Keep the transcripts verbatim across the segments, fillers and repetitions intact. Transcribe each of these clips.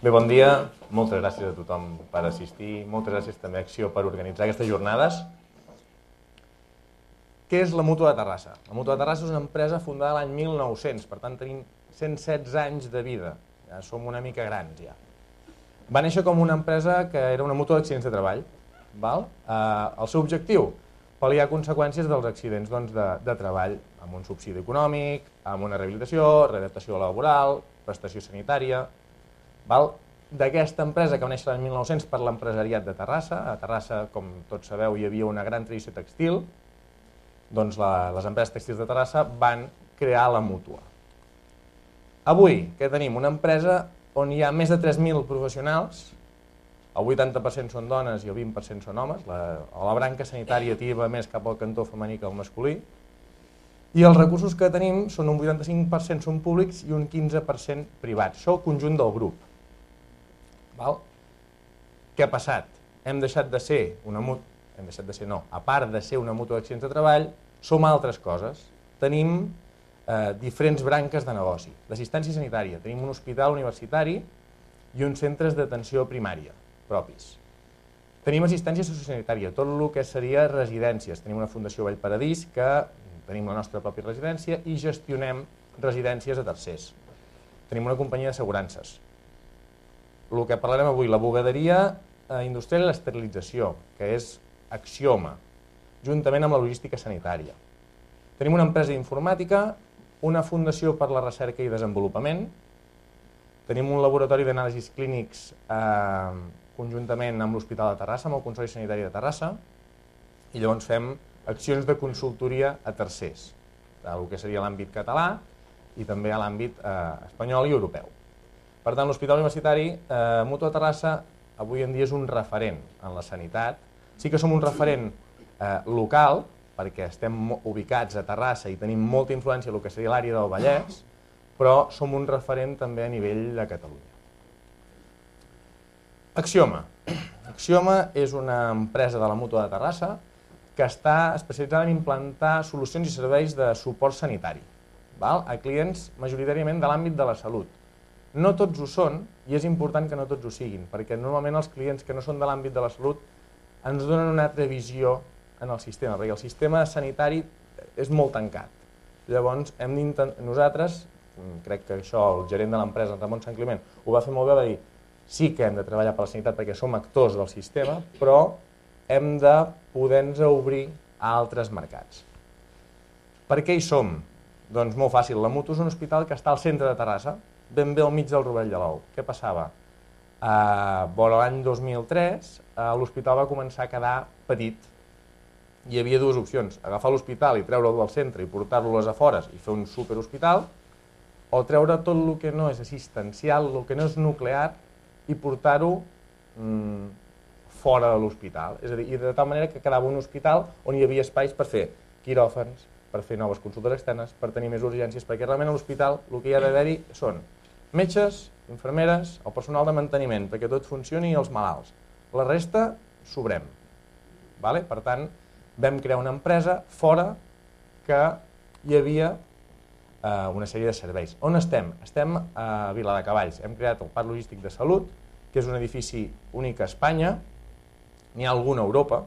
Bé, bon dia. Moltes gràcies a tothom per assistir. Moltes gràcies també a Acció per organitzar aquestes jornades. Què és la Mútua de Terrassa? La Mútua de Terrassa és una empresa fundada l'any mil nou-cents, per tant tenim cent setze anys de vida. Ja som una mica grans, ja. Va néixer com una empresa que era una mútua d'accidents de treball. Val? Eh, el seu objectiu? Pal·liar conseqüències dels accidents doncs, de, de treball, amb un subsidi econòmic, amb una rehabilitació, readaptació laboral, prestació sanitària. D'aquesta empresa que va néixer l'any mil nou-cents per l'empresariat de Terrassa. A Terrassa, com tots sabeu, hi havia una gran tradició tèxtil. Doncs la, les empreses tèxtils de Terrassa van crear la mútua. Avui, què tenim? Una empresa on hi ha més de tres mil professionals, el vuitanta per cent són dones i el vint per cent són homes, la, la branca sanitària tira més cap al cantó femení que al masculí, i els recursos que tenim són un vuitanta-cinc per cent són públics i un quinze per cent privats. Això el conjunt del grup. Val? Què ha passat? Hem deixat de ser una mútua, hem deixat de ser no, a part de ser una mútua d'accidents de treball, som altres coses. Tenim eh, diferents branques de negoci, d'assistència sanitària, tenim un hospital universitari i uns centres d'atenció primària propis. Tenim assistència sociosanitària, tot el que seria residències. Tenim una Fundació Vallparadís que tenim la nostra pròpia residència i gestionem residències a tercers. Tenim una companyia d'assegurances. El que parlarem avui, la bugaderia industrial i l'esterilització, que és Axioma, juntament amb la logística sanitària. Tenim una empresa d'informàtica, una fundació per la recerca i desenvolupament, tenim un laboratori d'anàlisis clínics eh, conjuntament amb l'Hospital de Terrassa, amb el Consell Sanitari de Terrassa, i llavors fem accions de consultoria a tercers, el que seria l'àmbit català i també a l'àmbit eh, espanyol i europeu. Per tant, l'Hospital Universitari eh, Mútua de Terrassa avui en dia és un referent en la sanitat. Sí que som un referent eh, local, perquè estem ubicats a Terrassa i tenim molta influència en el que seria l'àrea del Vallès, però som un referent també a nivell de Catalunya. Axioma. Axioma és una empresa de la Mútua de Terrassa que està especialitzada en implantar solucions i serveis de suport sanitari, val? A clients majoritàriament de l'àmbit de la salut. No tots ho són, i és important que no tots ho siguin, perquè normalment els clients que no són de l'àmbit de la salut ens donen una altra visió en el sistema, perquè el sistema sanitari és molt tancat. Llavors, hem nosaltres, crec que això el gerent de l'empresa, Ramon Sant Climent, ho va fer molt bé, va dir sí que hem de treballar per la sanitat perquè som actors del sistema, però hem de poder-nos obrir a altres mercats. Per què hi som? Doncs molt fàcil, la Mútua és un hospital que està al centre de Terrassa, ben bé al mig del Rovell de l'Ou. Què passava? Eh, L'any dos mil tres eh, l'hospital va començar a quedar petit. Hi havia dues opcions, agafar l'hospital i treure-lo del centre i portar-lo a les afores i fer un superhospital, o treure tot el que no és assistencial, el que no és nuclear, i portar-ho mmm, fora de l'hospital. És a dir, i de tal manera que quedava un hospital on hi havia espais per fer quiròfans, per fer noves consultes externes, per tenir més urgències, perquè realment a l'hospital el que hi ha d'haver-hi són metges, infermeres, el personal de manteniment, perquè tot funcioni i els malalts. La resta, sobrem. Vale? Per tant, vam crear una empresa fora que hi havia eh, una sèrie de serveis. On estem? Estem a Viladecavalls. Hem creat el Parc Logístic de Salut, que és un edifici únic a Espanya, n'hi ha algun a Europa,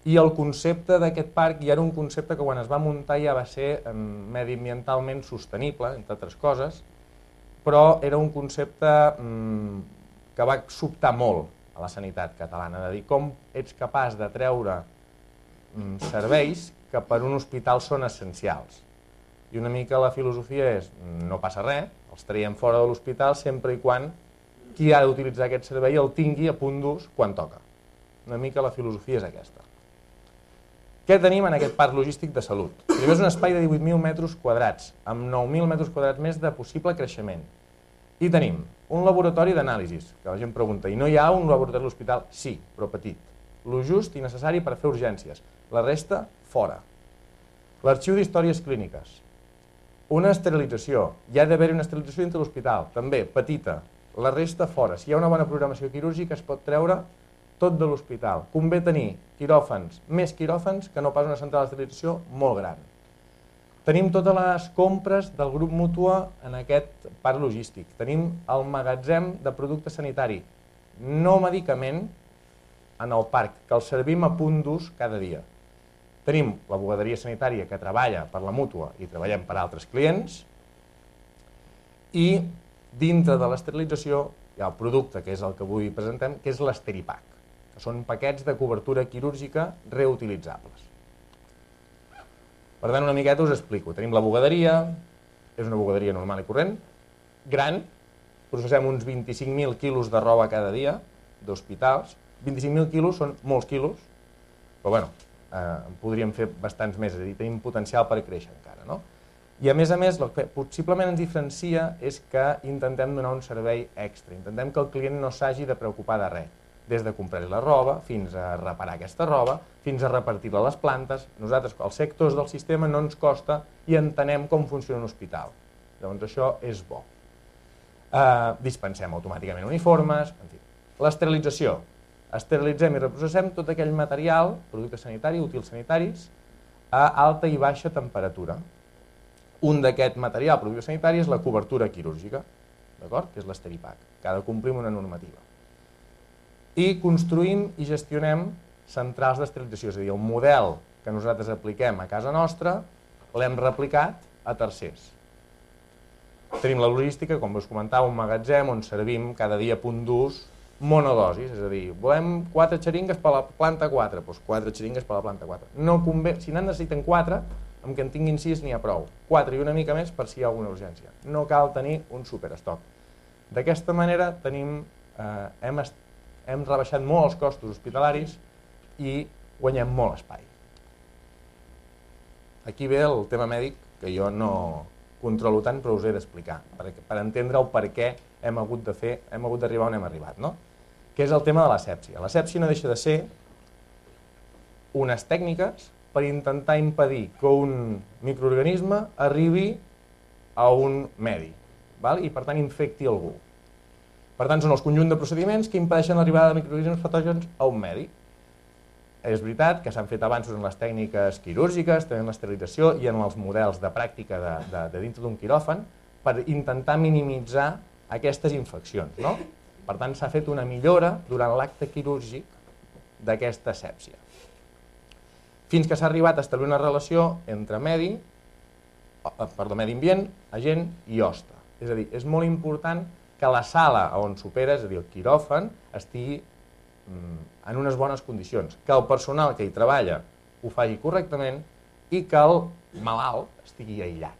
i el concepte d'aquest parc ja era un concepte que quan es va muntar ja va ser eh, mediambientalment sostenible, entre altres coses, però era un concepte mm, que va sobtar molt a la sanitat catalana, de dir com ets capaç de treure mm, serveis que per un hospital són essencials. I una mica la filosofia és, no passa res, els traiem fora de l'hospital sempre i quan qui ha d'utilitzar aquest servei el tingui a punt d'ús quan toca. Una mica la filosofia és aquesta. Què tenim en aquest parc logístic de salut? Primer és un espai de divuit mil metres quadrats, amb nou mil metres quadrats més de possible creixement. I tenim un laboratori d'anàlisis, que la gent pregunta, i no hi ha un laboratori a l'hospital? Sí, però petit. Lo just i necessari per fer urgències. La resta, fora. L'arxiu d'històries clíniques. Una esterilització. Hi ha d'haver una esterilització dintre l'hospital, també, petita. La resta, fora. Si hi ha una bona programació quirúrgica, es pot treure tot de l'hospital. Convé tenir quiròfans, més quiròfans que no pas una central d'esterilització molt gran. Tenim totes les compres del grup Mútua en aquest parc logístic. Tenim el magatzem de producte sanitari, no medicament, en el parc, que el servim a punt d'ús cada dia. Tenim la bugaderia sanitària que treballa per la Mútua i treballem per altres clients, i dintre de l'esterilització hi ha el producte, que és el que avui presentem, que és l'Esteripack, que són paquets de cobertura quirúrgica reutilitzables. Per tant, una miqueta us explico. Tenim la bugaderia, és una bugaderia normal i corrent, gran, processem uns vint-i-cinc mil quilos de roba cada dia d'hospitals. vint-i-cinc mil quilos són molts quilos, però bueno, eh, podríem fer bastants més, és a dir, tenim potencial per créixer encara, no? I a més a més, el que possiblement ens diferencia és que intentem donar un servei extra, intentem que el client no s'hagi de preocupar de res, des de comprar-li la roba, fins a reparar aquesta roba, fins a repartir-la a les plantes. Nosaltres, els sectors del sistema, no ens costa i entenem com funciona un hospital. Llavors això és bo. Eh, dispensem automàticament uniformes, en fi. L'esterilització. Esterilitzem i reprocessem tot aquell material, producte sanitari, útils sanitaris, a alta i baixa temperatura. Un d'aquest material, producte sanitari, és la cobertura quirúrgica, d'acord? Que és l'Esteripack, que ha de complir una normativa. I construïm i gestionem centrals d'esterilització, és a dir, el model que nosaltres apliquem a casa nostra l'hem replicat a tercers. Tenim la logística, com us comentava, un magatzem on servim cada dia a punt d'ús monodosis, és a dir, volem quatre xeringues per la planta quatre, doncs quatre xeringues per la planta quatre. No convé, si n'en necessiten quatre, amb que en tinguin sis n'hi ha prou. quatre i una mica més per si hi ha alguna urgència. No cal tenir un superestoc. D'aquesta manera tenim, eh, hem, hem rebaixat molt els costos hospitalaris i guanyem molt espai. Aquí ve el tema mèdic, que jo no controlo tant, però us he d'explicar, per, per entendre el per què hem hagut de fer, hem hagut d'arribar on hem arribat, no? Que és el tema de l'asèpsia. L'asèpsia no deixa de ser unes tècniques per intentar impedir que un microorganisme arribi a un medi, val? I per tant infecti algú. Per tant, són els conjunt de procediments que impedeixen l'arribada de microorganismes patògens a un medi. És veritat que s'han fet avanços en les tècniques quirúrgiques, també en l'esterilització i en els models de pràctica de, de, de dintre d'un quiròfan per intentar minimitzar aquestes infeccions, no? Per tant, s'ha fet una millora durant l'acte quirúrgic d'aquesta asèpsia. Fins que s'ha arribat a establir una relació entre medi, perdó, medi ambient, agent i hoste. És a dir, és molt important que la sala on s'opera, és a dir, el quiròfan, estigui en unes bones condicions, que el personal que hi treballa ho faci correctament i que el malalt estigui aïllat.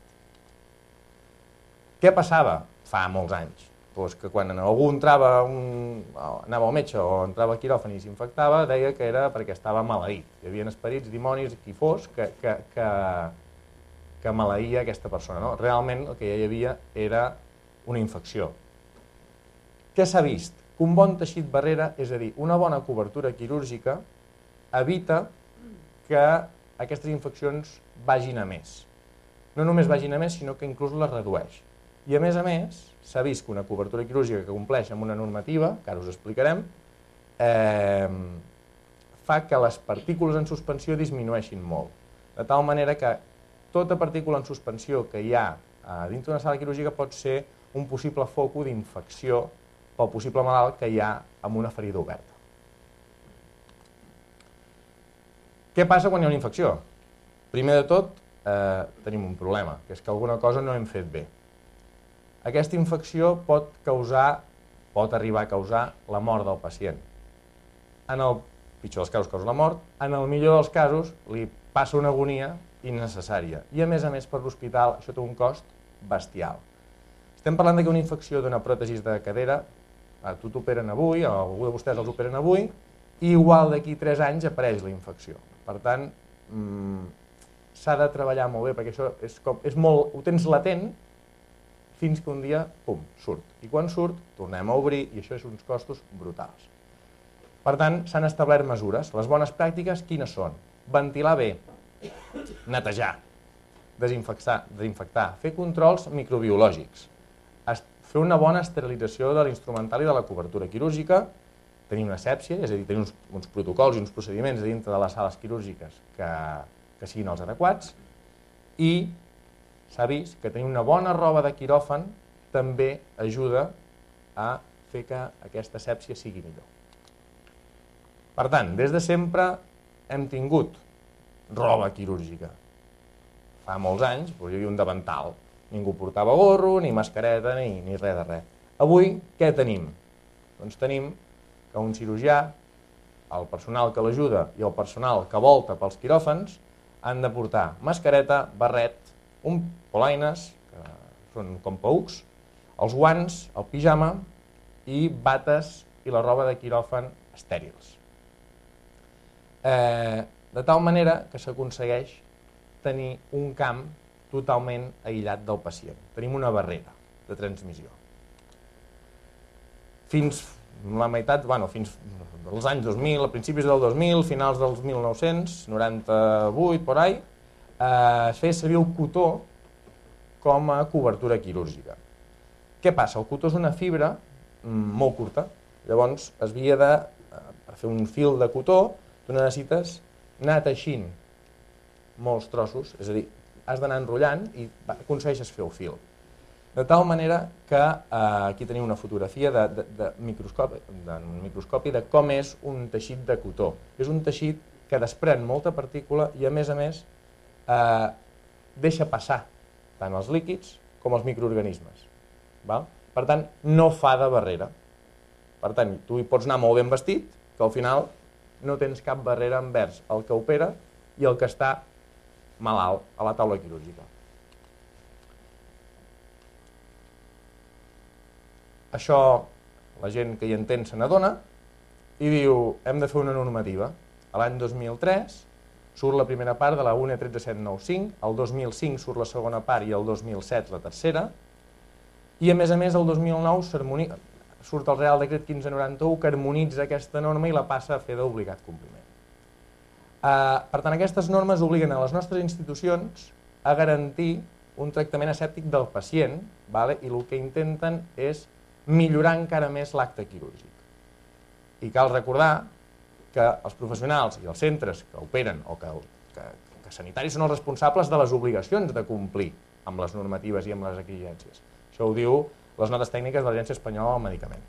Què passava fa molts anys? Pues que quan algú entrava, un, anava al metge o entrava al quiròfan i s'infectava, deia que era perquè estava maleït. Hi havia esperits, dimonis, qui fos, que, que, que, que maleïa aquesta persona. No? Realment el que ja hi havia era una infecció. Què s'ha vist? Que un bon teixit barrera, és a dir, una bona cobertura quirúrgica, evita que aquestes infeccions vagin a més. No només vagin a més, sinó que inclús les redueix. I a més a més, s'ha vist que una cobertura quirúrgica que compleix amb una normativa, que ara us explicarem, eh, fa que les partícules en suspensió disminueixin molt. De tal manera que tota partícula en suspensió que hi ha dintre d'una sala quirúrgica pot ser un possible foco d'infecció pel possible malalt que hi ha amb una ferida oberta. Què passa quan hi ha una infecció? Primer de tot, eh, tenim un problema, que és que alguna cosa no hem fet bé. Aquesta infecció pot causar, pot arribar a causar la mort del pacient. En el pitjor dels casos causa la mort, en el millor dels casos li passa una agonia innecessària. I a més a més per l'hospital això té un cost bestial. Estem parlant que una infecció d'una pròtesi de cadera, a tu t'operen avui, a algú de vostès els operen avui, i igual d'aquí tres anys apareix la infecció. Per tant, mmm, s'ha de treballar molt bé, perquè això és com, és molt, ho tens latent, fins que un dia, pum, surt. I quan surt, tornem a obrir, i això és uns costos brutals. Per tant, s'han establert mesures. Les bones pràctiques, quines són? Ventilar bé, netejar, desinfectar, desinfectar, fer controls microbiològics, fer una bona esterilització de l'instrumental i de la cobertura quirúrgica, tenir una asèpsia, és a dir, tenir uns, uns protocols i uns procediments dintre de les sales quirúrgiques que, que siguin els adequats, i s'ha vist que tenir una bona roba de quiròfan també ajuda a fer que aquesta asèpsia sigui millor. Per tant, des de sempre hem tingut roba quirúrgica. Fa molts anys hi havia un davantal, ningú portava gorro, ni mascareta, ni, ni res de res. Avui, què tenim? Doncs tenim que un cirurgià, el personal que l'ajuda i el personal que volta pels quiròfans han de portar mascareta, barret, un polaines, que són com paucs, els guants, el pijama i bates i la roba de quiròfan estèrils. Eh, de tal manera que s'aconsegueix tenir un camp totalment aïllat del pacient. Tenim una barrera de transmissió. Fins la meitat, bueno, fins als anys dos mil, a principis del dos mil, finals dels mil nou-cents noranta-vuit, por ahí, eh, es feia servir el cotó com a cobertura quirúrgica. Què passa? El cotó és una fibra molt curta, llavors es havia de, per fer un fil de cotó, tu necessites anar teixint molts trossos, és a dir, has d'anar enrotllant i aconsegueixes fer el fil. De tal manera que eh, aquí teniu una fotografia de, de, de, microscopi, de microscopi de com és un teixit de cotó. És un teixit que desprèn molta partícula i a més a més eh, deixa passar tant els líquids com els microorganismes. Val? Per tant, no fa de barrera. Per tant, tu hi pots anar molt ben vestit, que al final no tens cap barrera envers el que opera i el que està malalt a la taula quirúrgica. Això, la gent que hi entén se n'adona i diu, hem de fer una normativa. A l'any dos mil tres surt la primera part de la U N E tretze mil set cents noranta cinc, el dos mil cinc surt la segona part i el dos mil set la tercera, i a més a més el dos mil nou surt el Real Decret quinze noranta-u que harmonitza aquesta norma i la passa a fer d'obligat compliment. Per tant, aquestes normes obliguen a les nostres institucions a garantir un tractament asèptic del pacient i el que intenten és millorar encara més l'acte quirúrgic. I cal recordar que els professionals i els centres que operen o que, que, que sanitaris són els responsables de les obligacions de complir amb les normatives i amb les exigències. Això ho diu les notes tècniques de l'Agència Espanyola del Medicament.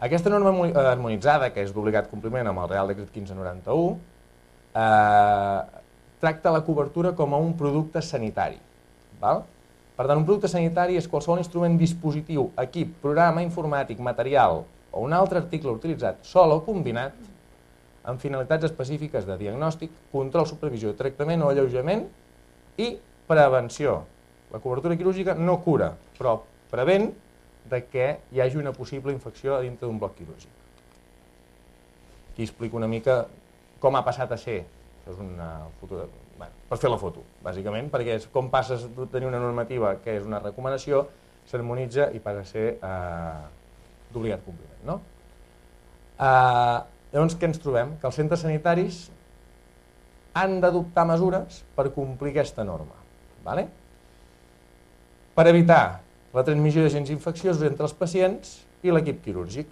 Aquesta norma harmonitzada, que és d'obligat compliment amb el Real Decret quinze noranta-u, eh, tracta la cobertura com a un producte sanitari. Val? Per tant, un producte sanitari és qualsevol instrument, dispositiu, equip, programa informàtic, material o un altre article utilitzat sol o combinat amb finalitats específiques de diagnòstic, control, supervisió, tractament o alleujament i prevenció. La cobertura quirúrgica no cura, però prevent de que hi hagi una possible infecció dintre d'un bloc quirúrgic. Aquí explico una mica com ha passat a ser. Això és una foto, bé, per fer la foto, bàsicament, perquè és com passes de tenir una normativa que és una recomanació, s'harmonitza i passa a ser eh, d'obligat compliment. No? Eh, llavors, què ens trobem? Que els centres sanitaris han d'adoptar mesures per complir aquesta norma. Vale? Per evitar la transmissió d'agents infecciosos entre els pacients i l'equip quirúrgic.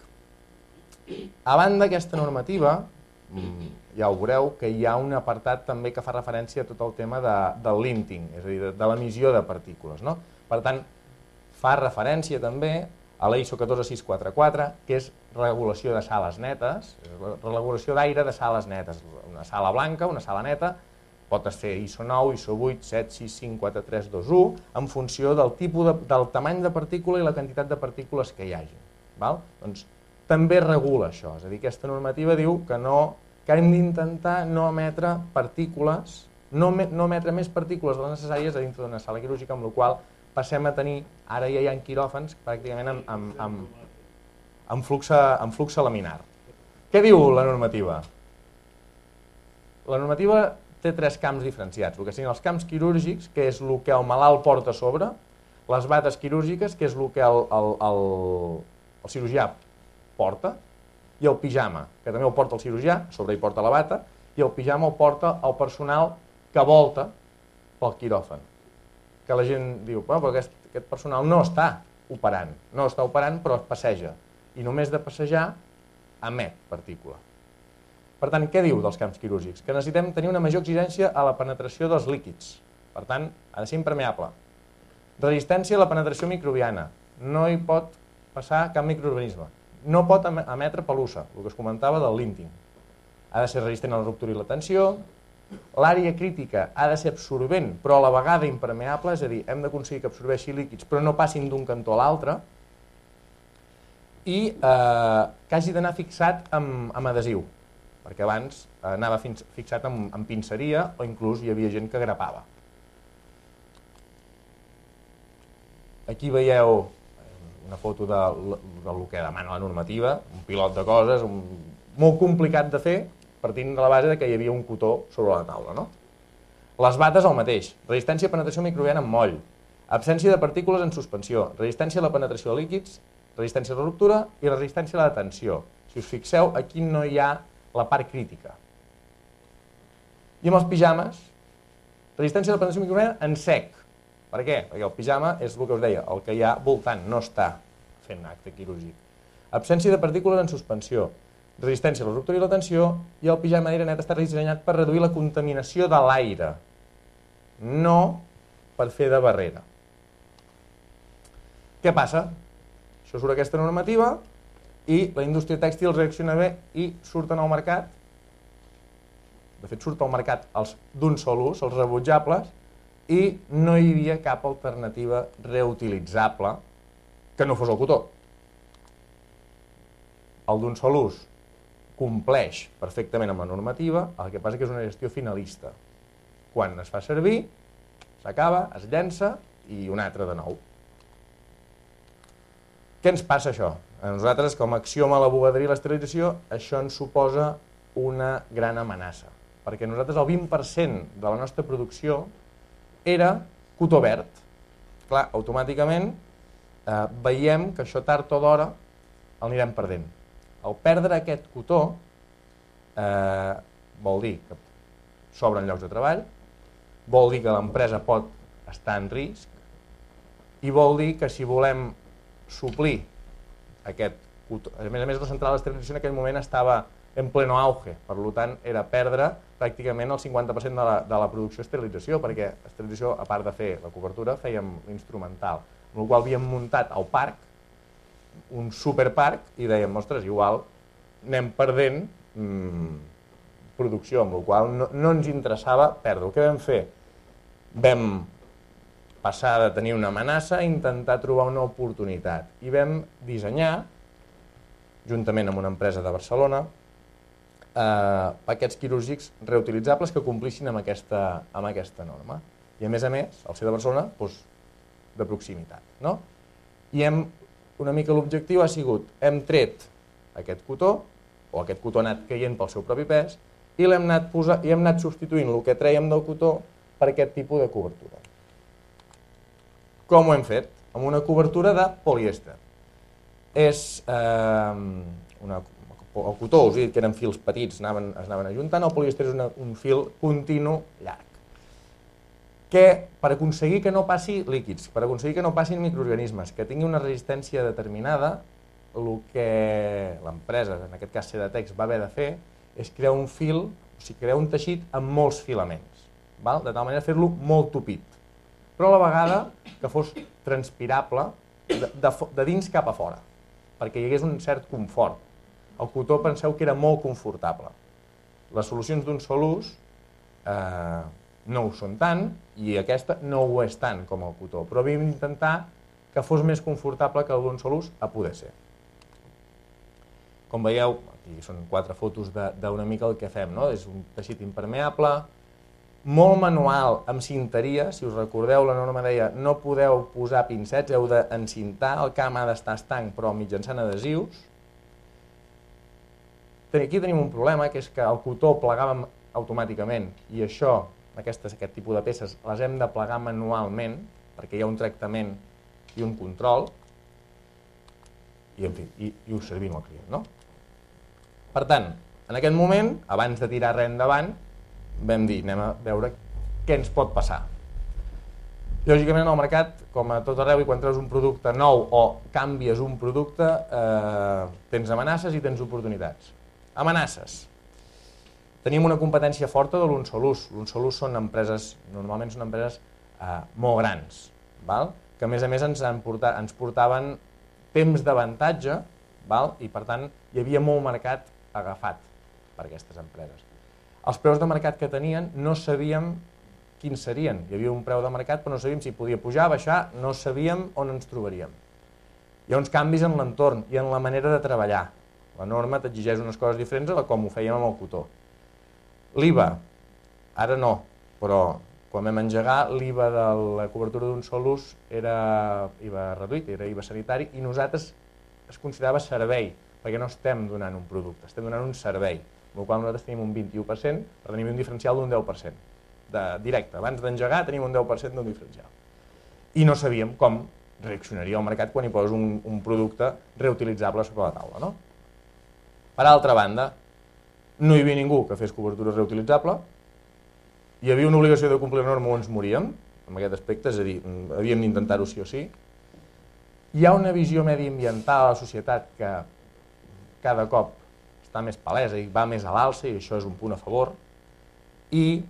A banda d'aquesta normativa, ja ho veureu que hi ha un apartat també que fa referència a tot el tema de, del linting, és a dir, de, de l'emissió de partícules. No? Per tant, fa referència també a la I S O catorze mil sis cents quaranta-quatre, que és regulació de sales netes, regulació d'aire de sales netes, una sala blanca, una sala neta, pot ser I S O nou, I S O vuit, set, sis, cinc, quatre, tres, dos, u, en funció del tipus de, del tamany de partícula i la quantitat de partícules que hi hagi. Val? Doncs també regula això, és a dir, aquesta normativa diu que, no, que hem d'intentar no emetre partícules, no, no emetre més partícules de les necessàries a dintre d'una sala quirúrgica, amb la qual passem a tenir, ara ja hi ha quiròfans pràcticament amb, amb, amb, amb, flux, amb flux laminar. Què diu la normativa? La normativa té tres camps diferenciats, el que siguin els camps quirúrgics, que és el que el malalt porta a sobre, les bates quirúrgiques, que és el que el, el, el, el cirurgià porta, i el pijama, que també el porta el cirurgià, a sobre hi porta la bata, i el pijama el porta el personal que volta pel quiròfan. Que la gent diu, però aquest, aquest personal no està operant, no està operant però es passeja, i només de passejar emet partícula. Per tant, què diu dels camps quirúrgics? Que necessitem tenir una major exigència a la penetració dels líquids, per tant, ha de ser impermeable. Resistència a la penetració microbiana, no hi pot passar cap microorganisme. No pot emetre pelusa, el que es comentava del linting. Ha de ser resistent a la ruptura i la tensió. L'àrea crítica ha de ser absorbent, però a la vegada impermeable, és a dir, hem d'aconseguir que absorbeixi líquids, però no passin d'un cantó a l'altre. I eh, que hagi d'anar fixat amb, amb adhesiu, perquè abans anava fins, fixat amb, amb pinceria o inclús hi havia gent que grapava. Aquí veieu una foto de, del que demana la normativa, un pilot de coses, un, molt complicat de fer, partint de la base de que hi havia un cotó sobre la taula. No? Les bates el mateix, resistència a penetració microbiana amb moll, absència de partícules en suspensió, resistència a la penetració de líquids, resistència a la ruptura i resistència a la tensió. Si us fixeu, aquí no hi ha la part crítica. I amb els pijames, resistència a la penetració microbiana en sec. Per què? Perquè el pijama és el que us deia, el que hi ha voltant, no està fent acte quirúrgic. Absència de partícules en suspensió, resistència a la ruptura i la tensió, i el pijama d'aire net està dissenyat per reduir la contaminació de l'aire, no per fer de barrera. Què passa? Això surt aquesta normativa i la indústria tèxtil reacciona bé i surten al mercat, de fet surt al mercat els d'un sol ús, els rebutjables, i no hi havia cap alternativa reutilitzable que no fos el cotó. El d'un sol ús compleix perfectament amb la normativa, el que passa que és una gestió finalista. Quan es fa servir, s'acaba, es llença i un altre de nou. Què ens passa això? A nosaltres, com a axioma a la bugaderia i l'esterilització, això ens suposa una gran amenaça, perquè nosaltres el vint per cent de la nostra producció era cotó verd. Clar, automàticament eh, veiem que això tard o d'hora el anirem perdent. Al perdre aquest cotó eh, vol dir que s'obren llocs de treball, vol dir que l'empresa pot estar en risc i vol dir que si volem suplir aquest cotó, a més a més la central d'esterilització en aquell moment estava en pleno auge, per tant era perdre pràcticament el cinquanta per cent de la, de la producció d'esterilització, perquè esterilització, a part de fer la cobertura, fèiem l'instrumental, amb la qual havíem muntat al parc, un superparc, i dèiem, ostres, igual anem perdent mmm, producció, amb la qual no, no ens interessava perdre. El que vam fer? Vam passar de tenir una amenaça a intentar trobar una oportunitat, i vam dissenyar, juntament amb una empresa de Barcelona, Eh, paquets quirúrgics reutilitzables que complissin amb aquesta, amb aquesta norma. I a més a més, al ser de Barcelona, doncs, de proximitat. No? I hem, una mica l'objectiu ha sigut, hem tret aquest cotó, o aquest cotó ha anat caient pel seu propi pes, i l'hem anat, posar, i hem anat substituint el que trèiem del cotó per aquest tipus de cobertura. Com ho hem fet? Amb una cobertura de polièster. És eh, una el cotó, us he dit que eren fils petits, anaven, es anaven ajuntant, el polièster és una, un fil continu llarg. Que per aconseguir que no passi líquids, per aconseguir que no passin microorganismes, que tingui una resistència determinada, el que l'empresa, en aquest cas Sedatex, va haver de fer és crear un fil, o sigui, crear un teixit amb molts filaments, val? De tal manera fer-lo molt tupit, però a la vegada que fos transpirable de, de, de dins cap a fora, perquè hi hagués un cert confort. El cotó penseu que era molt confortable. Les solucions d'un sol ús eh, no ho són tant i aquesta no ho és tant com el cotó, però havíem d'intentar que fos més confortable que el d'un sol ús a poder ser. Com veieu, aquí són quatre fotos d'una mica el que fem, no? És un teixit impermeable, molt manual, amb cinteria, si us recordeu la norma deia no podeu posar pincets, heu d'encintar, el camp ha d'estar estanc però mitjançant adhesius. Aquí tenim un problema, que és que el cotó plegàvem automàticament i això, aquestes, aquest tipus de peces, les hem de plegar manualment perquè hi ha un tractament i un control i, en fi, i, i ho servim al client, no? Per tant, en aquest moment, abans de tirar res endavant, vam dir, anem a veure què ens pot passar. Lògicament, en el mercat, com a tot arreu, i quan treus un producte nou o canvies un producte, eh, tens amenaces i tens oportunitats. Amenaces. Teníem una competència forta de l'un sol ús. L'un sol ús són empreses, normalment són empreses eh, molt grans, val? Que a més a més ens, portat, ens portaven temps d'avantatge, i per tant hi havia molt mercat agafat per aquestes empreses. Els preus de mercat que tenien no sabíem quins serien. Hi havia un preu de mercat però no sabíem si podia pujar, baixar, no sabíem on ens trobaríem. Hi ha uns canvis en l'entorn i en la manera de treballar. La norma t'exigeix unes coses diferents a com ho fèiem amb el cotó. L'I V A, ara no, però quan vam engegar l'I V A de la cobertura d'un sol ús era I V A reduït, era I V A sanitari, i nosaltres es considerava servei, perquè no estem donant un producte, estem donant un servei, amb el qual nosaltres tenim un vint-i-u per cent, per tenir un diferencial d'un deu per cent. De directe, abans d'engegar tenim un deu per cent d'un diferencial. I no sabíem com reaccionaria el mercat quan hi poses un, un producte reutilitzable sobre la taula, no? Per altra banda, no hi havia ningú que fes cobertura reutilitzable, hi havia una obligació de complir la norma o ens moríem, en aquest aspecte, és a dir, havíem d'intentar-ho sí o sí. Hi ha una visió mediambiental a la societat que cada cop està més palesa i va més a l'alça, i això és un punt a favor, i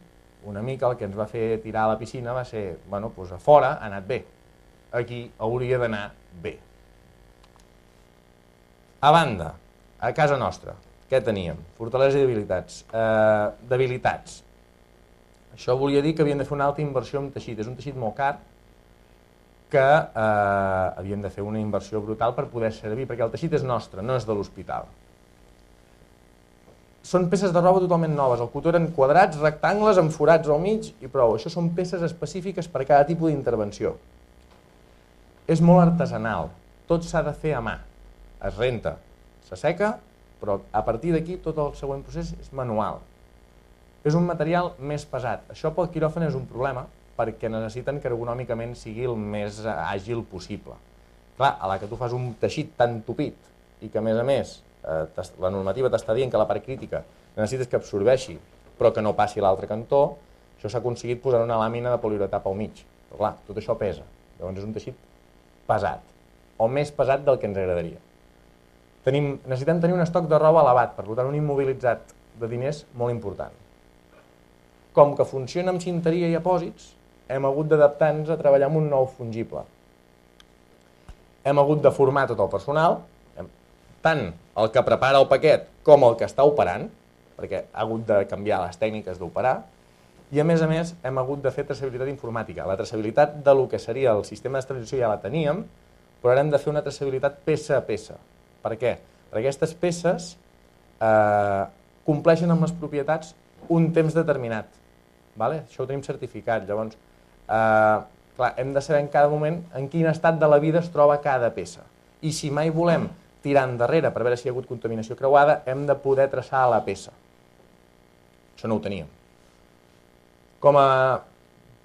una mica el que ens va fer tirar a la piscina va ser, bueno, doncs a fora ha anat bé, aquí hauria d'anar bé. A banda, a casa nostra, què teníem? Fortaleses i debilitats. Eh, debilitats. Això volia dir que havíem de fer una alta inversió en teixit. És un teixit molt car que eh, havíem de fer una inversió brutal per poder servir, perquè el teixit és nostre, no és de l'hospital. Són peces de roba totalment noves. El cotó eren quadrats, rectangles, amb forats al mig i prou. Això són peces específiques per a cada tipus d'intervenció. És molt artesanal. Tot s'ha de fer a mà. Es renta, s'asseca, però a partir d'aquí tot el següent procés és manual. És un material més pesat. Això pel quiròfan és un problema perquè necessiten que ergonòmicament sigui el més àgil possible. Clar, a la que tu fas un teixit tan tupit i que a més a més eh, la normativa t'està dient que la part crítica necessites que absorbeixi però que no passi a l'altre cantó, això s'ha aconseguit posar una làmina de poliuretà pel mig. Però clar, tot això pesa. Llavors és un teixit pesat, o més pesat del que ens agradaria. Tenim, necessitem tenir un estoc de roba elevat, per tant un immobilitzat de diners molt important. Com que funciona amb cinteria i apòsits, hem hagut d'adaptar-nos a treballar amb un nou fungible. Hem hagut de formar tot el personal, tant el que prepara el paquet com el que està operant, perquè ha hagut de canviar les tècniques d'operar, i a més a més hem hagut de fer traçabilitat informàtica. La traçabilitat de lo que seria el sistema d'estabilització ja la teníem, però ara hem de fer una traçabilitat peça a peça. Per què? Perquè aquestes peces eh, compleixen amb les propietats un temps determinat. Vale? Això ho tenim certificat. Llavors, eh, clar, hem de saber en cada moment en quin estat de la vida es troba cada peça. I si mai volem tirar endarrere per veure si hi ha hagut contaminació creuada, hem de poder traçar a la peça. Això no ho teníem. Com a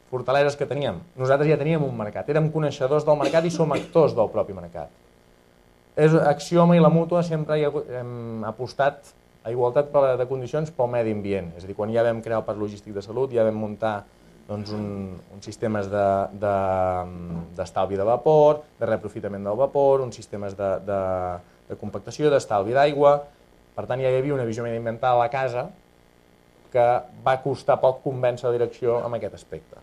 fortaleses que teníem, nosaltres ja teníem un mercat. Érem coneixedors del mercat i som actors del propi mercat. És Axioma i la Mútua sempre hem apostat a igualtat de condicions pel medi ambient. És a dir, quan ja vam crear el parc logístic de salut, ja vam muntar doncs, un, uns sistemes d'estalvi de, de, de vapor, de reaprofitament del vapor, uns sistemes de, de, de compactació, d'estalvi d'aigua. Per tant, ja hi havia una visió mediambiental a la casa que va costar poc convèncer la direcció en aquest aspecte.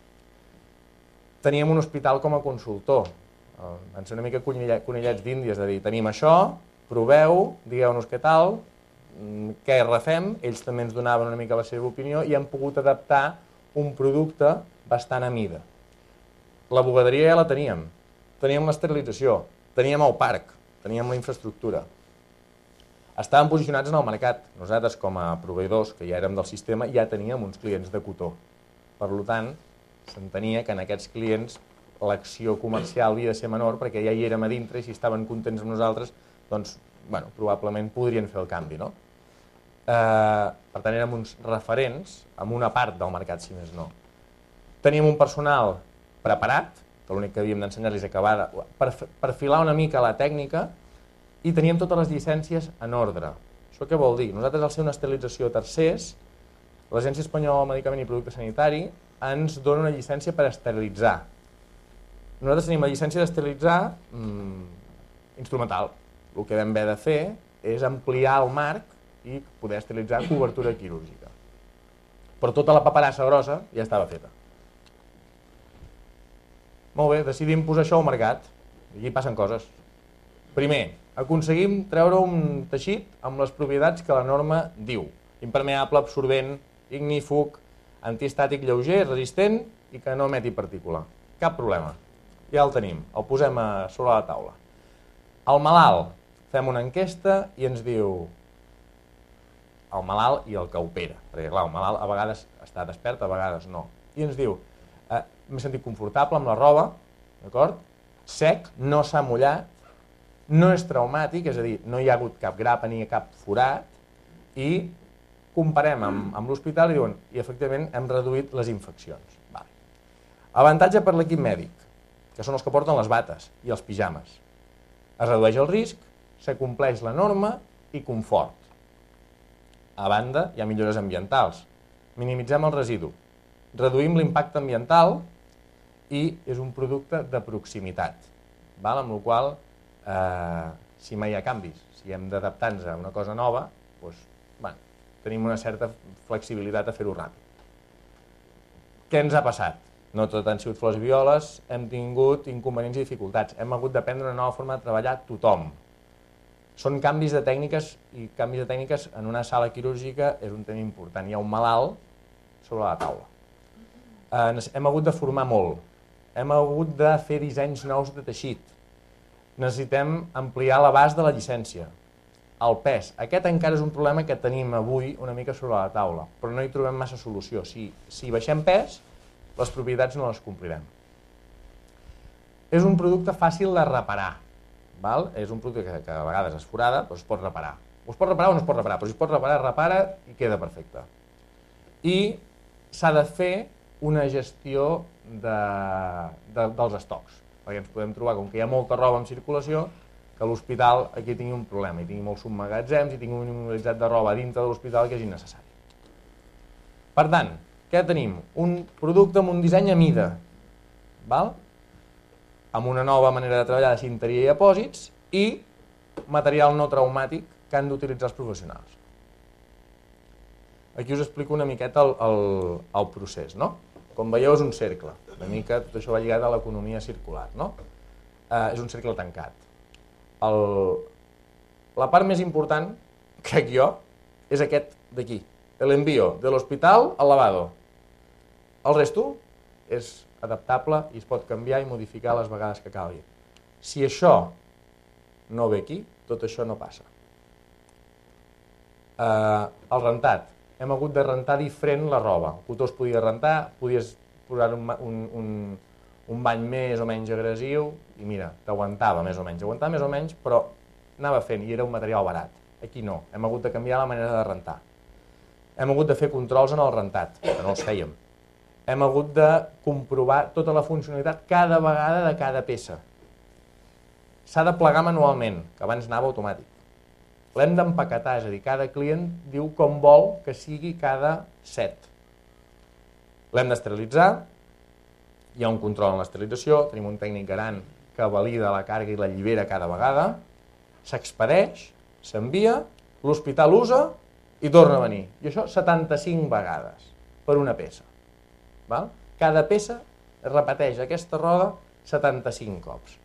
Teníem un hospital com a consultor. Van ser una mica conillets d'Índies, de dir, tenim això, proveu, digueu-nos què tal, què refem, ells també ens donaven una mica la seva opinió i hem pogut adaptar un producte bastant a mida. La bugaderia ja la teníem, teníem l'esterilització, teníem el parc, teníem la infraestructura. Estàvem posicionats en el mercat. Nosaltres, com a proveïdors, que ja érem del sistema, ja teníem uns clients de cotó. Per tant, s'entenia que en aquests clients l'acció comercial havia de ser menor perquè ja hi érem a dintre i si estaven contents amb nosaltres, doncs, bueno, probablement podrien fer el canvi, no? Eh, per tant, érem uns referents en una part del mercat, si més no. Teníem un personal preparat, que l'únic que havíem d'ensenyar-los acabar de per, perfilar una mica la tècnica i teníem totes les llicències en ordre. Això què vol dir? Nosaltres, al ser una esterilització a tercers, l'Agència Espanyola del Medicament i Producte Sanitari ens dona una llicència per esterilitzar. Nosaltres tenim la llicència d'esterilitzar mmm, instrumental. El que vam haver de fer és ampliar el marc i poder esterilitzar cobertura quirúrgica. però tota la paperassa grossa ja estava feta. Molt bé, decidim posar això al mercat, i aquí passen coses. Primer, aconseguim treure un teixit amb les propietats que la norma diu. Impermeable, absorbent, ignífug, antiestàtic lleuger, resistent i que no emeti partícula. Cap problema. Ja el tenim, el posem a sobre la taula. El malalt, fem una enquesta i ens diu el malalt i el que opera, perquè clar, el malalt a vegades està despert, a vegades no. I ens diu, eh, m'he sentit confortable amb la roba, d'acord? Sec, no s'ha mullat, no és traumàtic, és a dir, no hi ha hagut cap grapa ni cap forat, i comparem amb, amb l'hospital i diuen, i efectivament hem reduït les infeccions. Vale. Avantatge per l'equip mèdic, que són els que porten les bates i els pijames. Es redueix el risc, s'acompleix la norma i confort. A banda, hi ha millores ambientals. Minimitzem el residu, reduïm l'impacte ambiental i és un producte de proximitat, val? Amb la qual cosa, eh, si mai hi ha canvis, si hem d'adaptar-nos a una cosa nova, doncs, bueno, tenim una certa flexibilitat a fer-ho ràpid. Què ens ha passat? No tot han sigut flors i violes, hem tingut inconvenients i dificultats, hem hagut d'aprendre una nova forma de treballar tothom. Són canvis de tècniques i canvis de tècniques en una sala quirúrgica és un tema important. Hi ha un malalt sobre la taula. Eh, hem hagut de formar molt, hem hagut de fer dissenys nous de teixit, necessitem ampliar l'abast de la llicència, el pes. Aquest encara és un problema que tenim avui una mica sobre la taula, però no hi trobem massa solució. Si, si baixem pes, les propietats no les complirem. És un producte fàcil de reparar. Val? És un producte que, que a vegades es forada, però es pot reparar. O es pot reparar o no es pot reparar, però si es pot reparar, repara i queda perfecte. I s'ha de fer una gestió de, de, dels estocs, perquè ens podem trobar, com que hi ha molta roba en circulació, que l'hospital aquí tingui un problema, i tingui molts submagatzems, i tingui un immobilitzat de roba dintre de l'hospital que és innecessari. Per tant, què tenim? Un producte amb un disseny a mida, val? Amb una nova manera de treballar de cinteria i apòsits i material no traumàtic que han d'utilitzar els professionals. Aquí us explico una miqueta el, el, el procés, no? Com veieu és un cercle, una mica tot això va lligat a l'economia circular, no? Eh, és un cercle tancat. El, la part més important, crec jo, és aquest d'aquí, l'envío de l'hospital al lavado. El resto és adaptable i es pot canviar i modificar les vegades que calgui. Si això no ve aquí, tot això no passa. Eh, el rentat. Hem hagut de rentar diferent la roba. El cotó es podia rentar, podies posar un, un, un, un bany més o menys agressiu i mira, t'aguantava més o menys. Aguantava més o menys, però anava fent i era un material barat. Aquí no, hem hagut de canviar la manera de rentar. Hem hagut de fer controls en el rentat, que no els fèiem. Hem hagut de comprovar tota la funcionalitat cada vegada de cada peça. S'ha de plegar manualment, que abans anava automàtic. L'hem d'empaquetar, és a dir, cada client diu com vol que sigui cada set. L'hem d'esterilitzar, hi ha un control en l'esterilització, tenim un tècnic garant que valida la càrrega i la llibera cada vegada, s'expedeix, s'envia, l'hospital usa i torna a venir. I això setanta-cinc vegades per una peça. Val? Cada peça es repeteix aquesta roda setanta-cinc cops.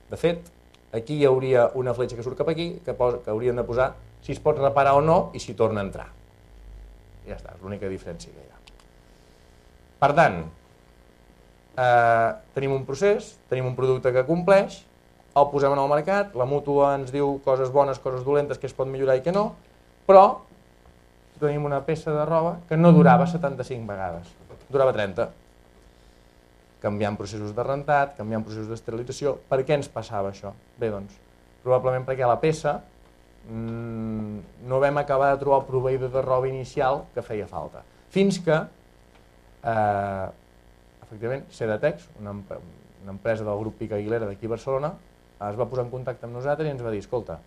De fet, aquí hi hauria una fletxa que surt cap aquí que, posa, que haurien de posar si es pot reparar o no i si torna a entrar. I ja està, és l'única diferència que hi ha. Per tant, eh, tenim un procés, tenim un producte que compleix, el posem en el mercat, la mútua ens diu coses bones, coses dolentes, que es pot millorar i que no, però tenim una peça de roba que no durava setanta-cinc vegades, durava trenta. Canviant processos de rentat, canviant processos d'esterilització. Per què ens passava això? Bé, doncs, probablement perquè a la peça mmm, no vam acabar de trobar el proveïdor de roba inicial que feia falta. Fins que, eh, efectivament, Sedatex, una, una empresa del grup Pica Aguilera d'aquí a Barcelona, es va posar en contacte amb nosaltres i ens va dir, escolta,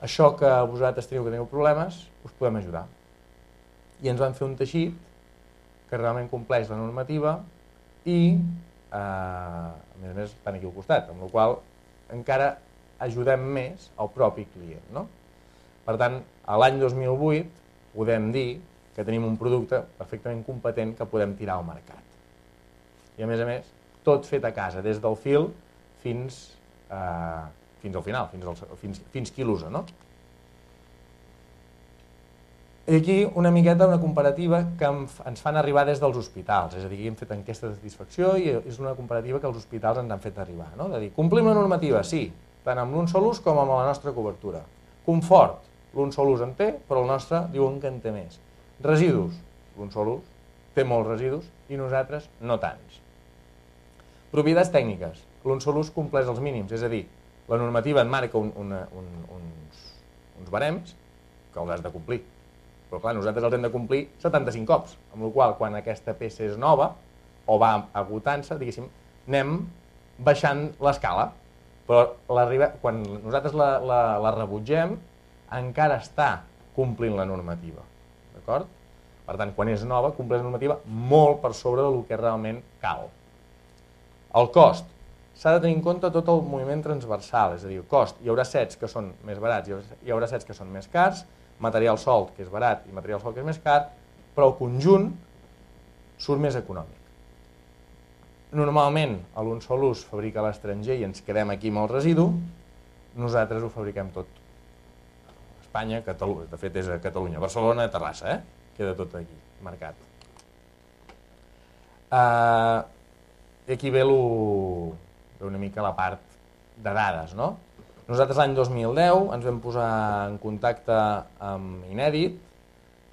això que vosaltres teniu que teniu problemes, us podem ajudar. I ens van fer un teixit que realment compleix la normativa i, eh, a més a més, estan aquí al costat, amb la qual cosa encara ajudem més al propi client. No? Per tant, a l'any dos mil vuit podem dir que tenim un producte perfectament competent que podem tirar al mercat. I a més a més, tot fet a casa, des del fil fins, eh, fins al final, fins, al, fins, fins qui l'usa, no? I aquí una miqueta una comparativa que ens fan arribar des dels hospitals, és a dir, que hem fet enquestes de satisfacció i és una comparativa que els hospitals ens han fet arribar, no? De dir, complim la normativa, sí, tant amb l'un sol ús com amb la nostra cobertura. Confort, l'un sol ús en té, però el nostre diuen que en té més. Residus, l'un sol ús té molts residus i nosaltres no tants. Propietats tècniques, l'un sol ús compleix els mínims, és a dir, la normativa et marca un, una, un, uns, uns barems que els has de complir. Però clar, nosaltres els hem de complir setanta-cinc cops, amb la qual cosa, quan aquesta peça és nova o va agotant-se, diguéssim, anem baixant l'escala. Però quan nosaltres la, la, la rebutgem, encara està complint la normativa. D'acord? Per tant, quan és nova, compleix la normativa molt per sobre del que realment cal. El cost. S'ha de tenir en compte tot el moviment transversal, és a dir, el cost. Hi haurà sets que són més barats, hi haurà sets que són més cars, material solt, que és barat, i material solt, que és més car, però el conjunt surt més econòmic. Normalment, l'un sol ús fabrica a l'estranger i ens quedem aquí amb el residu, nosaltres ho fabriquem tot. Espanya, Catalunya, de fet és a Catalunya, Barcelona, Terrassa, eh? Queda tot aquí, marcat. Uh, I aquí ve, lo, ve una mica la part de dades, no? Nosaltres l'any dos mil deu ens vam posar en contacte amb Inèdit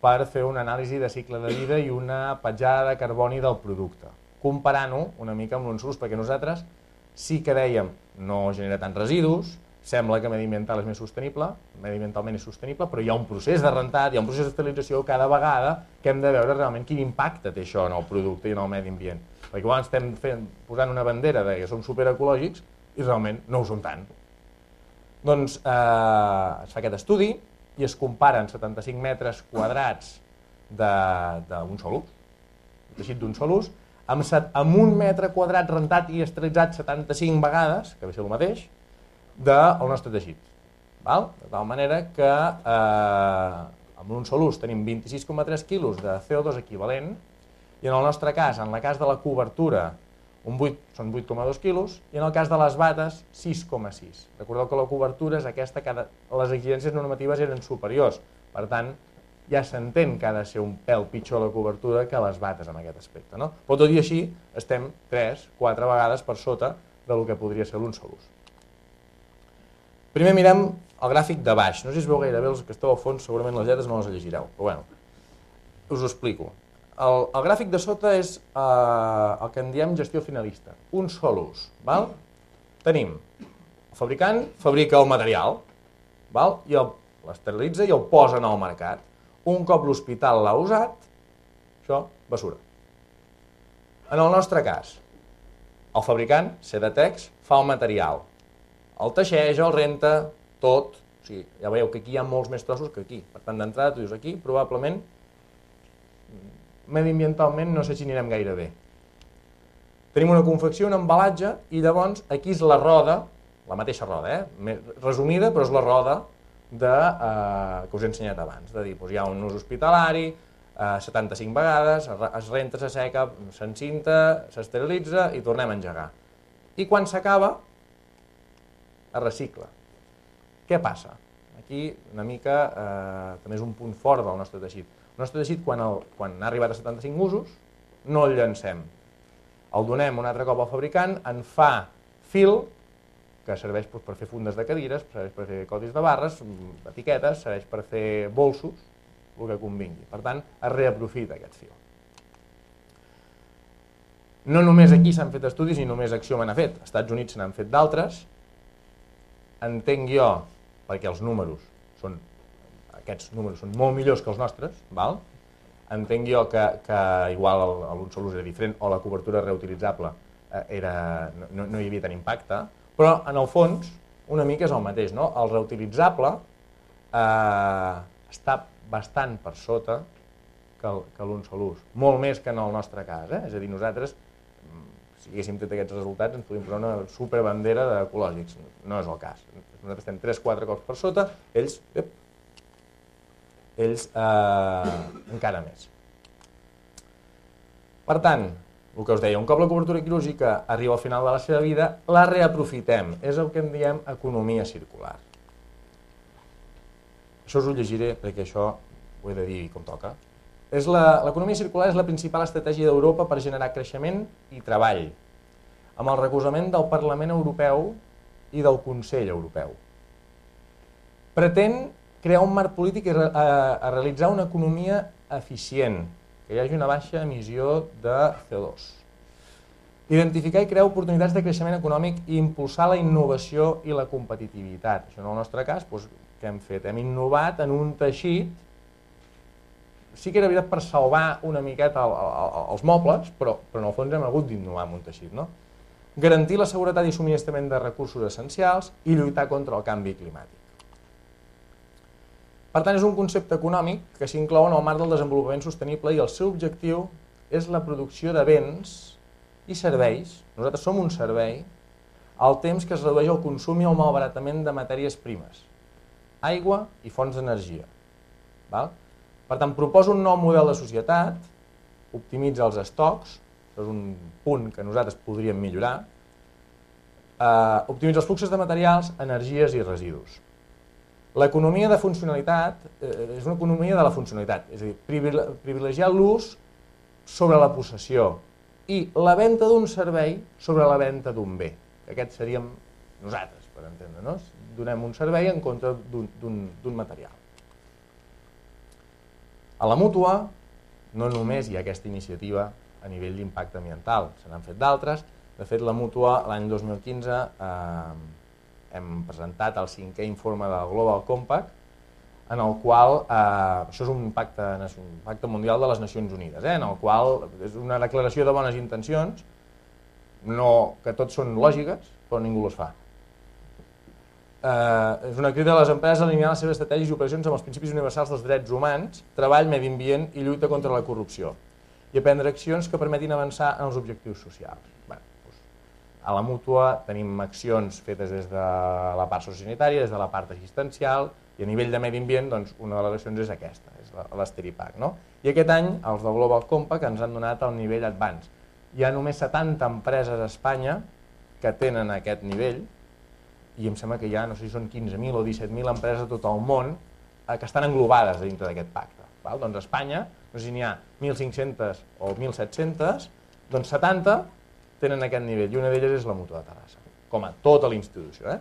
per fer una anàlisi de cicle de vida i una petjada de carboni del producte, comparant-ho una mica amb l'un sol ús, perquè nosaltres sí que dèiem no genera tants residus, sembla que mediambiental és més sostenible, mediambientalment és sostenible, però hi ha un procés de rentat, hi ha un procés d'esterilització cada vegada que hem de veure realment quin impacte té això en el producte i en el medi ambient. Perquè igual estem fent, posant una bandera de que som superecològics i realment no ho som tant. Doncs eh, es fa aquest estudi i es comparen setanta-cinc metres quadrats d'un sol ús, teixit d'un sol ús, amb, set, amb un metre quadrat rentat i esterilitzat setanta-cinc vegades, que ve a ser el mateix, del nostre teixit. Val? De tal manera que eh, amb un sol ús tenim vint-i-sis coma tres quilos de C O dos equivalent i en el nostre cas, en el cas de la cobertura, un vuit, són vuit coma dos quilos, i en el cas de les bates, sis coma sis. Recordeu que la cobertura és aquesta, que les exigències normatives eren superiors. Per tant, ja s'entén que ha de ser un pèl pitjor la cobertura que les bates en aquest aspecte. No? Però tot i així, estem tres, quatre vegades per sota del que podria ser l'un sol ús. Primer mirem el gràfic de baix. No sé si es veu gaire bé, els que esteu al fons, segurament les lletres no les llegireu, però bueno, us ho explico. El, el gràfic de sota és eh, el que en diem gestió finalista, un sol ús. Val? Tenim el fabricant, fabrica el material, val? I l'esterilitza i el posa en el mercat. Un cop l'hospital l'ha usat, això, basura. En el nostre cas, el fabricant, Sedatex, fa el material, el teixeix, el renta, tot. O sigui, ja veieu que aquí hi ha molts més trossos que aquí. Per tant, d'entrada, tu dius aquí, probablement mediambientalment no sé si anirem gaire bé. Tenim una confecció, un embalatge, i llavors aquí és la roda, la mateixa roda, eh? resumida, però és la roda de, eh, que us he ensenyat abans. De dir, doncs hi ha un ús hospitalari, eh, setanta-cinc vegades, es renta, s'asseca, s'encinta, s'esterilitza i tornem a engegar. I quan s'acaba, es recicla. Què passa? Aquí una mica eh, també és un punt fort del nostre teixit. El nostre teixit, quan, el, quan ha arribat a setanta-cinc usos, no el llancem. El donem un altre cop al fabricant, en fa fil, que serveix doncs, per fer fundes de cadires, serveix per fer codis de barres, etiquetes, serveix per fer bolsos, el que convingui. Per tant, es reaprofita aquest fil. No només aquí s'han fet estudis, ni només Acció me n'ha fet. Als Estats Units se n'han fet d'altres. Entenc jo, perquè els números són aquests números són molt millors que els nostres, val? Entenc jo que, que igual l'un sol ús era diferent o la cobertura reutilitzable era, no, no hi havia tant impacte, però en el fons una mica és el mateix, no? El reutilitzable eh, està bastant per sota que l'un sol ús, molt més que en el nostre cas, eh? És a dir, nosaltres, si haguéssim fet aquests resultats, ens podríem posar una superbandera d'ecològics, no és el cas. Nosaltres estem tres quatre cops per sota, ells... Ep, ells eh, encara més. Per tant, el que us deia, un cop la cobertura quirúrgica arriba al final de la seva vida, la reaprofitem. És el que en diem economia circular. Això us ho llegiré perquè això ho he de dir com toca. L'economia circular és la principal estratègia d'Europa per generar creixement i treball, amb el recolzament del Parlament Europeu i del Consell Europeu. Pretén crear un marc polític i a, a realitzar una economia eficient, que hi hagi una baixa emissió de C O dos. Identificar i crear oportunitats de creixement econòmic i impulsar la innovació i la competitivitat. Això en el nostre cas, doncs, què hem fet? Hem innovat en un teixit, sí que era veritat per salvar una miqueta el, el, els mobles, però, però en el fons hem hagut d'innovar en un teixit, no? Garantir la seguretat i subministrament de recursos essencials i lluitar contra el canvi climàtic. Per tant, és un concepte econòmic que s'inclou en el marc del desenvolupament sostenible i el seu objectiu és la producció de béns i serveis, nosaltres som un servei, al temps que es redueix el consum i el malbaratament de matèries primes, aigua i fonts d'energia. Per tant, proposa un nou model de societat, optimitza els estocs, això és un punt que nosaltres podríem millorar, eh, optimitza els fluxos de materials, energies i residus. L'economia de funcionalitat eh, és una economia de la funcionalitat, és a dir, privilegiar l'ús sobre la possessió i la venda d'un servei sobre la venda d'un bé. Aquest seríem nosaltres, per entendre-nos. Donem un servei en contra d'un material. A la mútua no només hi ha aquesta iniciativa a nivell d'impacte ambiental, se n'han fet d'altres. De fet, la mútua l'any dos mil quinze eh, hem presentat el cinquè informe del Global Compact, en el qual, eh, això és un pacte, un pacte mundial de les Nacions Unides, eh, en el qual és una declaració de bones intencions, no, que tots són lògiques, però ningú les fa. Eh, és una crida a les empreses a alinear les seves estratègies i operacions amb els principis universals dels drets humans, treball, medi ambient i lluita contra la corrupció, i a prendre accions que permetin avançar en els objectius socials. Bé, doncs, a la mútua tenim accions fetes des de la part sociosanitària, des de la part assistencial, i a nivell de medi ambient, doncs, una de les accions és aquesta, és l'Esteripac, no? I aquest any, els del Global Compact ens han donat el nivell Advanced. Hi ha només setanta empreses a Espanya que tenen aquest nivell, i em sembla que hi ha, no sé si són quinze mil o disset mil empreses de tot el món eh, que estan englobades dintre d'aquest pacte. Val? Doncs a Espanya, no sé si n'hi ha mil cinc-centes o mil set-centes, doncs setanta tenen aquest nivell, i una d'elles és la Mútua de Terrassa, com a tota la institució. Eh?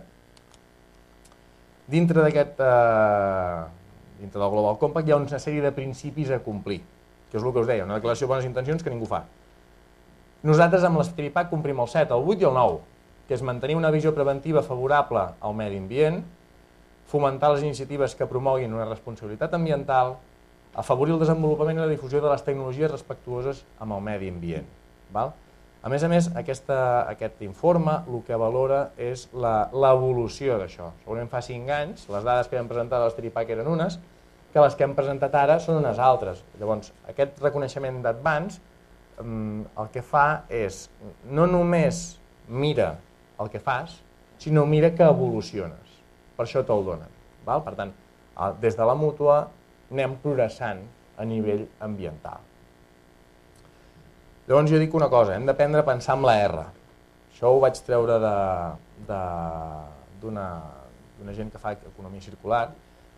Dintre d'aquest, eh, dintre del Global Compact hi ha una sèrie de principis a complir, que és el que us deia, una declaració de bones intencions que ningú fa. Nosaltres amb l'Esteripac complim el set, el vuit i el nou, que és mantenir una visió preventiva favorable al medi ambient, fomentar les iniciatives que promoguin una responsabilitat ambiental, afavorir el desenvolupament i la difusió de les tecnologies respectuoses amb el medi ambient. Val? A més a més, aquesta, aquest informe el que valora és l'evolució d'això. Segurament fa cinc anys, les dades que vam presentar de l'Esteripac eren unes, que les que hem presentat ara són unes altres. Llavors, aquest reconeixement d'Advance el que fa és, no només mira el que fas, sinó mira que evoluciones. Per això te'l donen. Val? Per tant, des de la mútua anem progressant a nivell ambiental. Llavors jo dic una cosa, hem d'aprendre a pensar amb la R. Això ho vaig treure d'una gent que fa economia circular,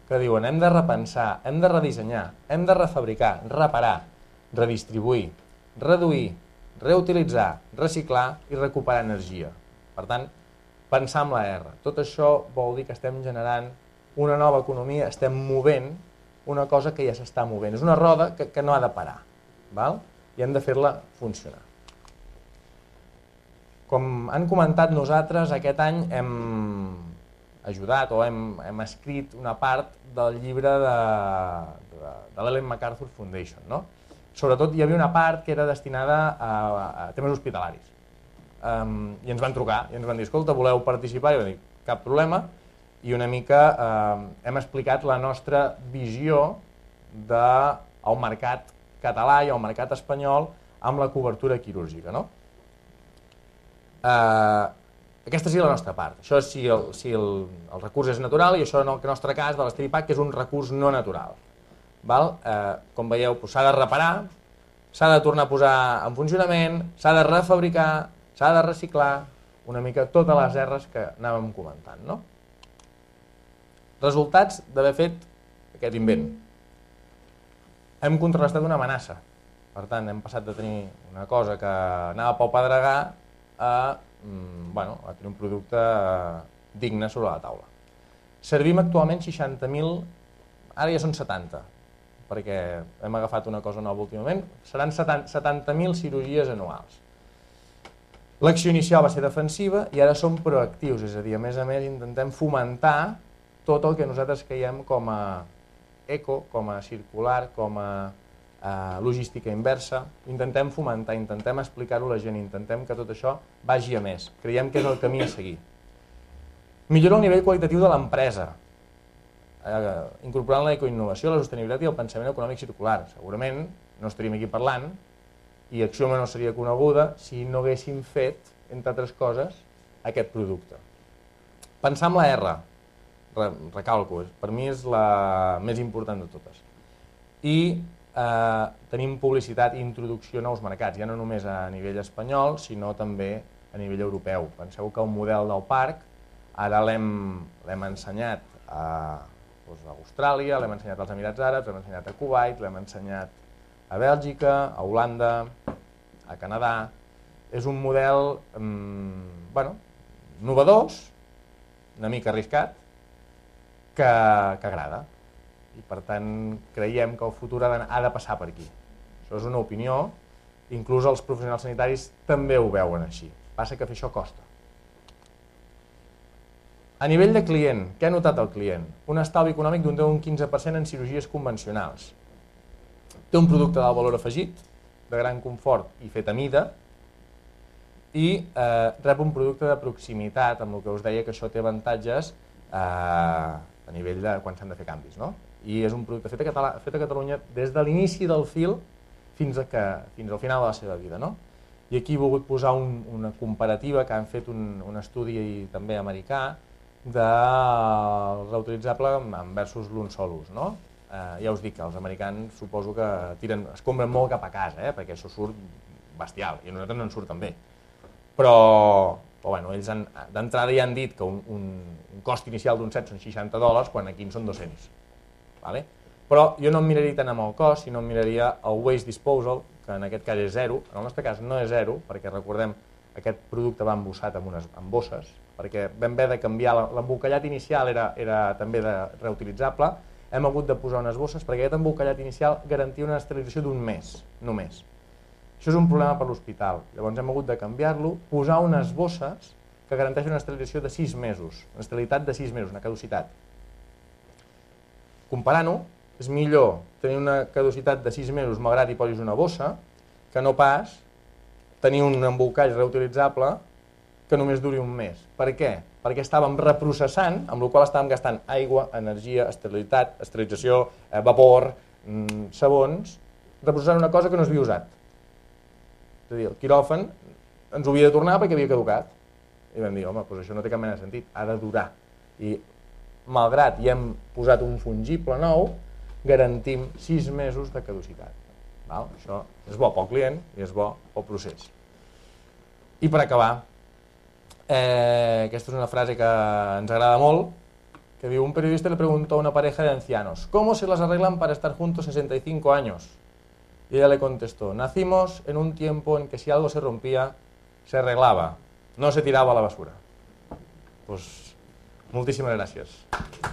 que diuen hem de repensar, hem de redissenyar, hem de refabricar, reparar, redistribuir, reduir, reutilitzar, reciclar i recuperar energia. Per tant, pensar amb la R. Tot això vol dir que estem generant una nova economia, estem movent una cosa que ja s'està movent. És una roda que, que no ha de parar. Val? I hem de fer-la funcionar. Com han comentat nosaltres, aquest any hem ajudat o hem, hem escrit una part del llibre de, de, de l'Ellen MacArthur Foundation. No? Sobretot hi havia una part que era destinada a, a temes hospitalaris. Um, I ens van trucar i ens van dir, escolta, voleu participar? I vam dir, cap problema. I una mica eh, hem explicat la nostra visió del mercat català i el mercat espanyol amb la cobertura quirúrgica. No? Eh, aquesta sí la nostra part. Això és si, el, si el, el recurs és natural i això en el nostre cas de l'Esteripac és un recurs no natural. Com veieu, s'ha de reparar, s'ha de tornar a posar en funcionament, s'ha de refabricar, s'ha de reciclar, una mica totes les erres que anàvem comentant. Resultats d'haver fet aquest invent. Hem contrarrestat una amenaça. Per tant, hem passat de tenir una cosa que anava pel pedregar a tenir un producte digne sobre la taula. Servim actualment seixanta mil, ara ja són setanta, perquè hem agafat una cosa nova últimament, seran setanta mil cirurgies anuals. L'acció inicial va ser defensiva i ara som proactius, és a dir, a més a més intentem fomentar tot el que nosaltres creiem com a eco, com a circular, com a logística inversa. Intentem fomentar, intentem explicar-ho a la gent, intentem que tot això vagi a més. Creiem que és el camí a seguir. Millora el nivell qualitatiu de l'empresa, incorporant l'ecoinnovació, la sostenibilitat i el pensament econòmic circular. Segurament no estaríem aquí parlant i Axioma no seria coneguda si no haguéssim fet, entre altres coses, aquest producte. Pensar en la R, recalco, per mi és la més important de totes. I tenim publicitat i introducció a nous mercats, ja no només a nivell espanyol, sinó també a nivell europeu. Penseu que el model del parc ara l'hem ensenyat a Austràlia, l'hem ensenyat als Emirats Àrabs, l'hem ensenyat a Kuwait, l'hem ensenyat a Bèlgica, a Holanda, a Canadà. És un model innovador, una mica arriscat, que agrada. I per tant creiem que el futur ha de passar per aquí. Això és una opinió, inclús els professionals sanitaris també ho veuen així. Passa que fer això costa. A nivell de client, què ha notat el client? Un estalvi econòmic d'un deu a un quinze per cent en cirurgies convencionals. Té un producte d'alt valor afegit, de gran confort i fet a mida, i rep un producte de proximitat, amb el que us deia que això té avantatges a nivell de quan s'han de fer canvis. I és un producte fet a Catalunya des de l'inici del fil fins al final de la seva vida. I aquí he volgut posar una comparativa que han fet un estudi també americà del reutilitzable versus l'un sol ús. Ja us dic que els americans suposo que es compren molt cap a casa, perquè això surt bestial i a nosaltres no ens surt tan bé. Però ells d'entrada ja han dit que un cost inicial d'un set són seixanta dòlars, quan aquí en són dos-cents. Però jo no em miraria tant amb el cost, sinó em miraria el waste disposal, que en aquest cas és zero. En el nostre cas no és zero, perquè recordem aquest producte va embossat amb bosses, perquè vam haver de canviar, l'embolcallat inicial era també reutilitzable, hem hagut de posar unes bosses perquè aquest embolcallat inicial garantia una esterilització d'un mes, només. Això és un problema per l'hospital, llavors hem hagut de canviar-lo, posar unes bosses que garanteixen una esterilització de sis mesos, una esterilitat de sis mesos, una caducitat. Comparant-ho, és millor tenir una caducitat de sis mesos malgrat hi posis una bossa que no pas tenir un embolcall reutilitzable que només duri un mes. Per què? Perquè estàvem reprocessant, amb la qual estàvem gastant aigua, energia, esterilitat, esterilització, vapor, sabons, reprocessant una cosa que no s'havia usat. És a dir, el quiròfan ens ho havia de tornar perquè havia caducat. I vam dir, home, doncs això no té cap mena de sentit, ha de durar. I malgrat hi hem posat un fungible nou, garantim sis mesos de caducitat. Això és bo pel client i és bo pel procés. I per acabar, aquesta és una frase que ens agrada molt, que diu, un periodista le preguntó a una pareja de ancianos, ¿cómo se las arreglan para estar juntos sesenta y cinco años? Y ella le contestó, nacimos en un tiempo en que si algo se rompía, se arreglaba, no se tiraba a la basura. Pues, moltíssimes gràcies.